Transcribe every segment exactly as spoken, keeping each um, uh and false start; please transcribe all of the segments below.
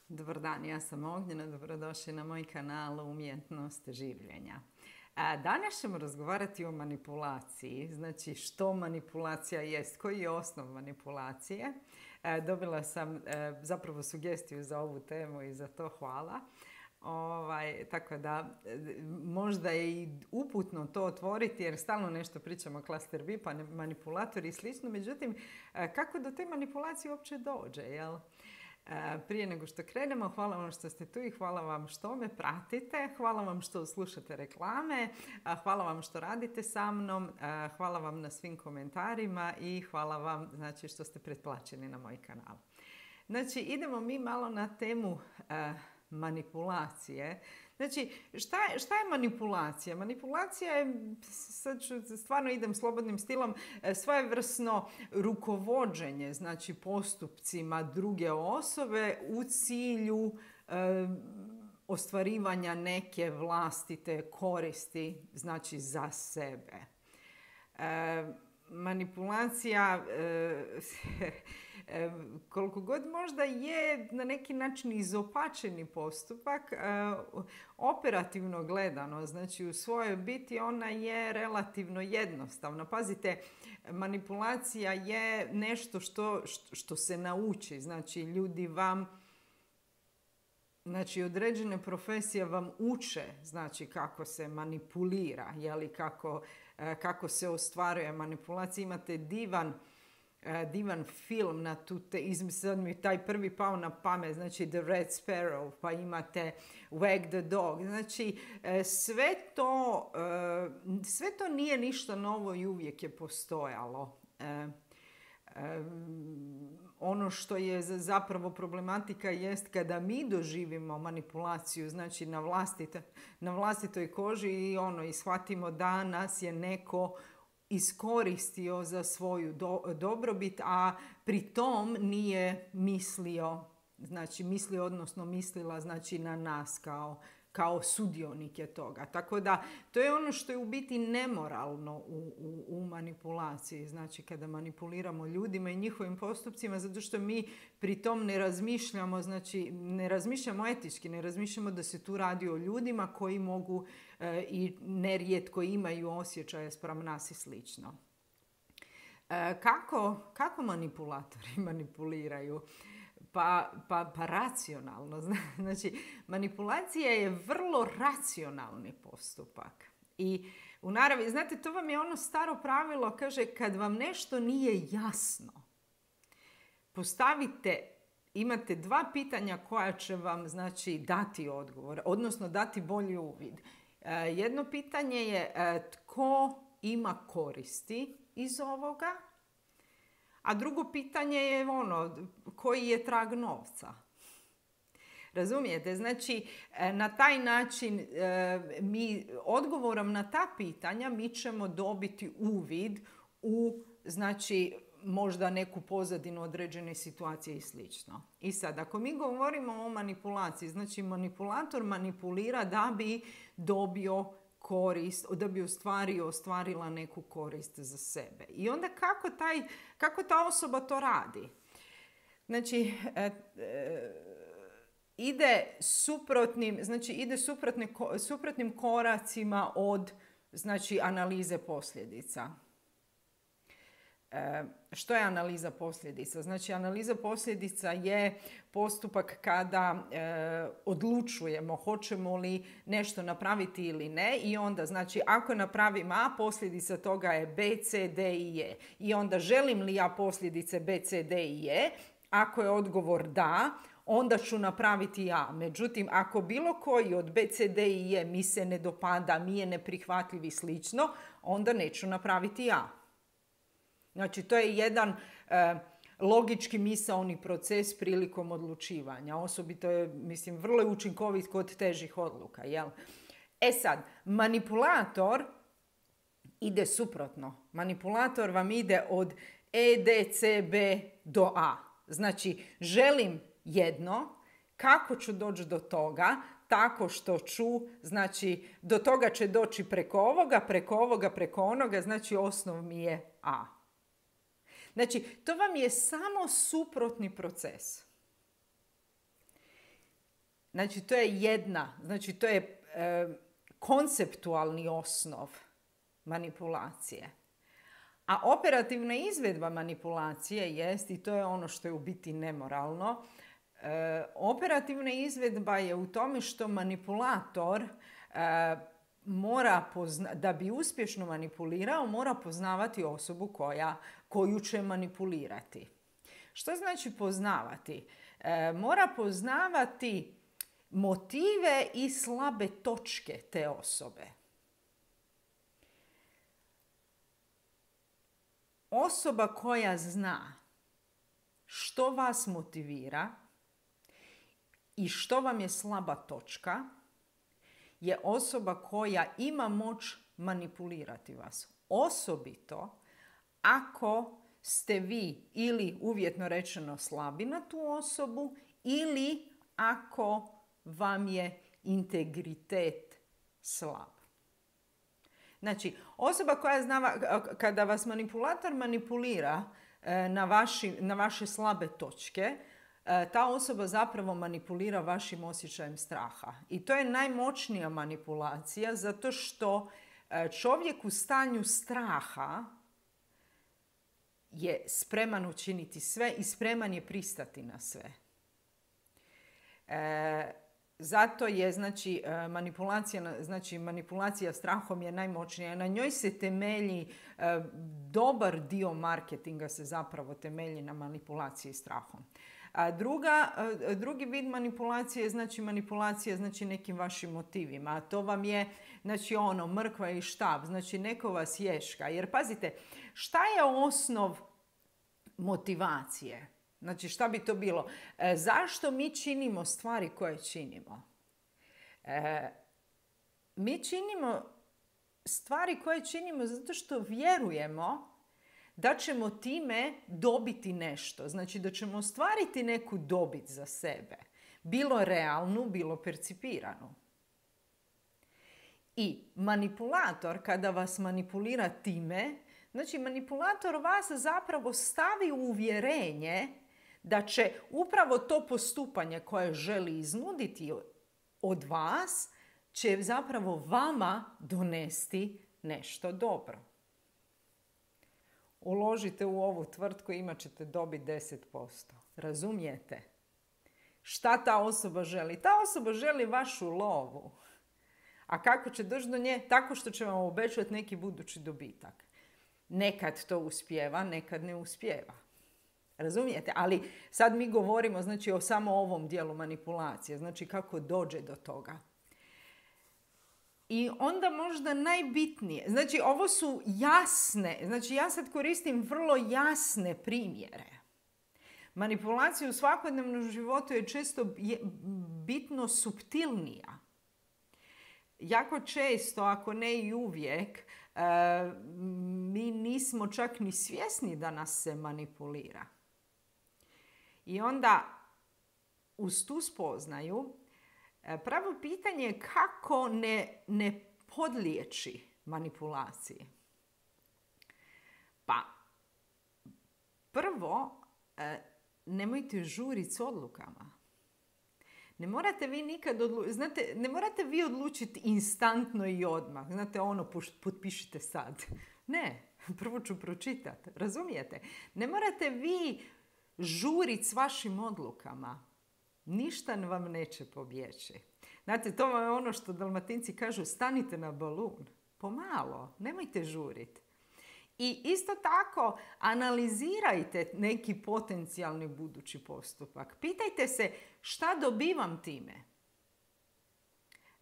Dobar dan, ja sam Ognjena, dobrodošli na moj kanal Umjetnost življenja. A danas ćemo razgovarati o manipulaciji, znači što manipulacija jest, koji je osnov manipulacije. A, dobila sam a, zapravo sugestiju za ovu temu i za to hvala. Ovaj, tako da možda je i uputno to otvoriti jer stalno nešto pričamo o klaster B, pa manipulatori i slično. Međutim, kako do te manipulacije uopće dođe, jel? Prije nego što krenemo, hvala vam što ste tu i hvala vam što me pratite, hvala vam što slušate reklame, hvala vam što radite sa mnom, hvala vam na svim komentarima i hvala vam, znači, što ste pretplaćeni na moj kanal. Znači, idemo mi malo na temu manipulacije. Znači, šta je, šta je manipulacija? Manipulacija je, sad ću, stvarno idem slobodnim stilom, svojevrsno rukovođenje, znači postupcima druge osobe u cilju e, ostvarivanja neke vlastite koristi, znači za sebe. E, manipulacija e, koliko god možda je na neki način izopačeni postupak, operativno gledano, znači u svojoj biti ona je relativno jednostavna. Pazite, manipulacija je nešto što, što se nauči, znači ljudi vam, znači određene profesije vam uče, znači kako se manipulira, jeli, kako, kako se ostvaruje manipulacija. Imate divan divan film na tu te, sad mi taj prvi pao na pamet, znači The Red Sparrow, pa imate Wag the Dog. Znači sve to, sve to nije ništa novo i uvijek je postojalo. Ono što je zapravo problematika jest kada mi doživimo manipulaciju, znači na, vlastite, na vlastitoj koži i ono, i shvatimo da nas je neko iskoristio za svoju do, dobrobit, a pri tom nije mislio, znači mislio, odnosno mislila, znači na nas kao, kao sudionike toga. Tako da to je ono što je u biti nemoralno u, u, u manipulaciji, znači kada manipuliramo ljudima i njihovim postupcima, zato što mi pri tom ne razmišljamo, znači ne razmišljamo etički, ne razmišljamo da se tu radi o ljudima koji mogu e, i nerijetko imaju osjećaje spram nas i slično. E, kako, kako manipulatori manipuliraju? Pa, pa, pa racionalno. Znači, manipulacija je vrlo racionalni postupak. I u naravi, znate, to vam je ono staro pravilo, kaže, kad vam nešto nije jasno, postavite, imate dva pitanja koja će vam, znači, dati odgovor, odnosno dati bolji uvid. Jedno pitanje je tko ima koristi iz ovoga, a drugo pitanje je ono, koji je trag novca. Razumijete? Znači, na taj način mi odgovorom na ta pitanja mi ćemo dobiti uvid u, znači, možda neku pozadinu određene situacije i slično. I sad, ako mi govorimo o manipulaciji, znači manipulator manipulira da bi dobio korist, da bi ostvario, ostvarila neku korist za sebe. I onda kako, taj, kako ta osoba to radi? Znači, e, e, ide suprotnim, znači ide suprotne, suprotnim koracima od, znači, analize posljedica. E, što je analiza posljedica? Znači, analiza posljedica je postupak kada e, odlučujemo hoćemo li nešto napraviti ili ne i onda, znači, ako napravim A, posljedica toga je B, C, D i E. I onda želim li ja posljedice B, C, D i E? Ako je odgovor da, onda ću napraviti A. Međutim, ako bilo koji od B, C, D i E mi se ne dopada, mi je neprihvatljiv i slično, onda neću napraviti A. Znači, to je jedan e, logički misaoni proces prilikom odlučivanja. Osobito je, mislim, vrlo je učinkovit kod težih odluka. Jel? E sad, manipulator ide suprotno. Manipulator vam ide od E, D, C, B do A. Znači, želim jedno, kako ću doći do toga? Tako što ću, znači, do toga će doći preko ovoga, preko ovoga, preko onoga, znači osnov mi je A. Znači, to vam je samo suprotni proces. Znači, to je jedna, znači to je e, konceptualni osnov manipulacije. A operativna izvedba manipulacije jest, i to je ono što je u biti nemoralno, e, operativna izvedba je u tome što manipulator e, mora pozna, da bi uspješno manipulirao, mora poznavati osobu koja, koju će manipulirati. Što znači poznavati? E, mora poznavati motive i slabe točke te osobe. Osoba koja zna što vas motivira i što vam je slaba točka je osoba koja ima moć manipulirati vas. Osobito ako ste vi ili uvjetno rečeno slabi na tu osobu ili ako vam je integritet slab. Znači, osoba koja zna, kada vas manipulator manipulira na, vaši, na vaše slabe točke, ta osoba zapravo manipulira vašim osjećajem straha. I to je najmoćnija manipulacija zato što čovjek u stanju straha je spreman učiniti sve i spreman je pristati na sve. E, zato je znači, manipulacija, znači, manipulacija strahom je najmoćnija. Na njoj se temelji, e, dobar dio marketinga se zapravo temelji na manipulaciji strahom. A druga, drugi vid manipulacije je znači manipulacija znači nekim vašim motivima. A to vam je znači ono mrkva i štap, znači neko vas ješka. Jer pazite, šta je osnov motivacije? Znači šta bi to bilo? E, zašto mi činimo stvari koje činimo? E, mi činimo stvari koje činimo zato što vjerujemo da ćemo time dobiti nešto. Znači da ćemo ostvariti neku dobit za sebe. Bilo realnu, bilo percipiranu. I manipulator, kada vas manipulira time, znači manipulator vas zapravo stavi u uvjerenje da će upravo to postupanje koje želi iznuditi od vas, će zapravo vama donesti nešto dobro. Uložite u ovu tvrtku i imat ćete dobiti deset posto. Razumijete? Šta ta osoba želi? Ta osoba želi vašu lovu. A kako će doći do nje? Tako što će vam obećati neki budući dobitak. Nekad to uspijeva, nekad ne uspijeva. Razumijete? Ali sad mi govorimo znači, o samo ovom dijelu manipulacije. Znači kako dođe do toga. I onda možda najbitnije, znači ovo su jasne, znači ja sad koristim vrlo jasne primjere. Manipulacija u svakodnevnom životu je često bitno suptilnija. Jako često, ako ne i uvijek, mi nismo čak ni svjesni da nas se manipulira. I onda uz tu spoznaju pravo pitanje je kako ne, ne podlijeći manipulaciji. Pa, prvo, nemojte žuriti s odlukama. Ne morate vi nikad odlučiti, znate, ne morate vi odlučiti instantno i odmah. Znate, ono, potpišite sad. Ne, prvo ću pročitati, razumijete? Ne morate vi žuriti s vašim odlukama. Ništa vam neće pobjeći. Znate, to je ono što Dalmatinci kažu, stanite na balun. Pomalo, nemojte žuriti. I isto tako, analizirajte neki potencijalni budući postupak. Pitajte se šta dobivam time.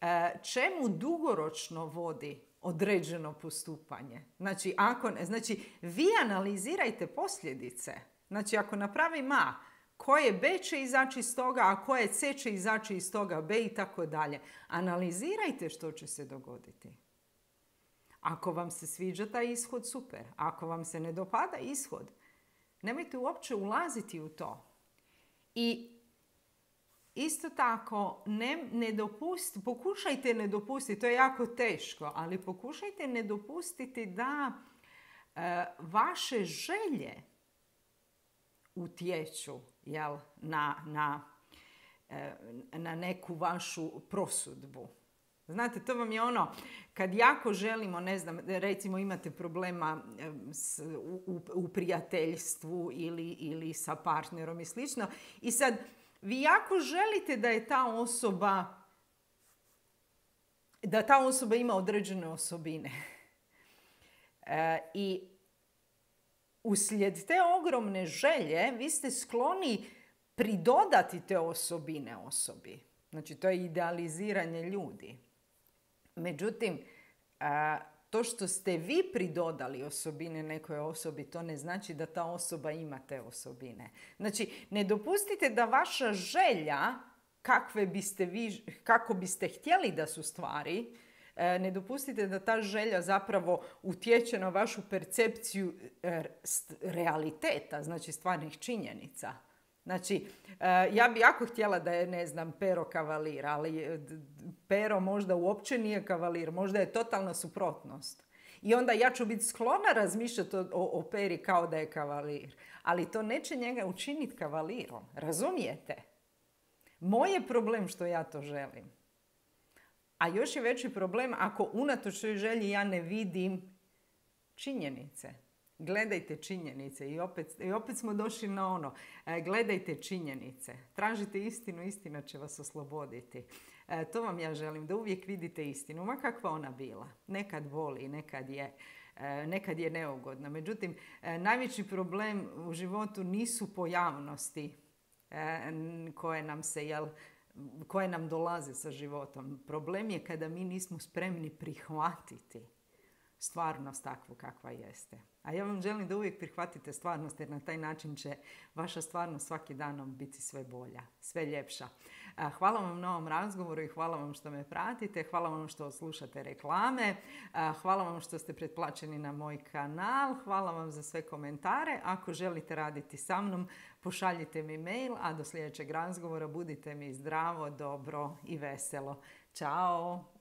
E, čemu dugoročno vodi određeno postupanje? Znači, ako, znači, vi analizirajte posljedice. Znači, ako napravim A, koje B će izaći iz toga, a koje C će izaći iz toga B i tako dalje. Analizirajte što će se dogoditi. Ako vam se sviđa taj ishod, super. Ako vam se ne dopada ishod, nemojte uopće ulaziti u to. I isto tako, ne, ne dopustite, pokušajte ne dopustiti, to je jako teško, ali pokušajte ne dopustiti da e, vaše želje utječu jel, na, na na neku vašu prosudbu. Znate, to vam je ono, kad jako želimo, ne znam, recimo imate problema s, u, u prijateljstvu ili, ili sa partnerom i slično, i sad vi jako želite da je ta osoba, da ta osoba ima određene osobine. E, I uslijed te ogromne želje vi ste skloni pridodati te osobine osobi. Znači, to je idealiziranje ljudi. Međutim, to što ste vi pridodali osobine nekoj osobi, to ne znači da ta osoba ima te osobine. Znači, ne dopustite da vaša želja, kakve biste vi, kako biste htjeli da su stvari, ne dopustite da ta želja zapravo utječe na vašu percepciju realiteta, znači stvarnih činjenica. Znači, ja bi jako htjela da je, ne znam, Pero kavalir, ali Pero možda uopće nije kavalir, možda je totalna suprotnost. I onda ja ću biti sklona razmišljati o, o Peri kao da je kavalir. Ali to neće njega učiniti kavalirom. Razumijete? Moj je problem što ja to želim. A još je veći problem ako unatoč toj želji ja ne vidim činjenice. Gledajte činjenice i opet, i opet smo došli na ono. E, gledajte činjenice. Tražite istinu, istina će vas osloboditi. E, to vam ja želim, da uvijek vidite istinu, ma kakva ona bila. Nekad boli, nekad je, e, nekad je neugodna. Međutim, e, najveći problem u životu nisu pojavnosti e, koje nam se, jel, koje nam dolaze sa životom. Problem je kada mi nismo spremni prihvatiti stvarnost takvu kakva jeste. A ja vam želim da uvijek prihvatite stvarnost, jer na taj način će vaša stvarnost svaki danom biti sve bolja, sve ljepša. Hvala vam na ovom razgovoru i hvala vam što me pratite. Hvala vam što slušate reklame. Hvala vam što ste pretplaćeni na moj kanal. Hvala vam za sve komentare. Ako želite raditi sa mnom, pošaljite mi mail, a do sljedećeg razgovora budite mi zdravo, dobro i veselo. Ćao!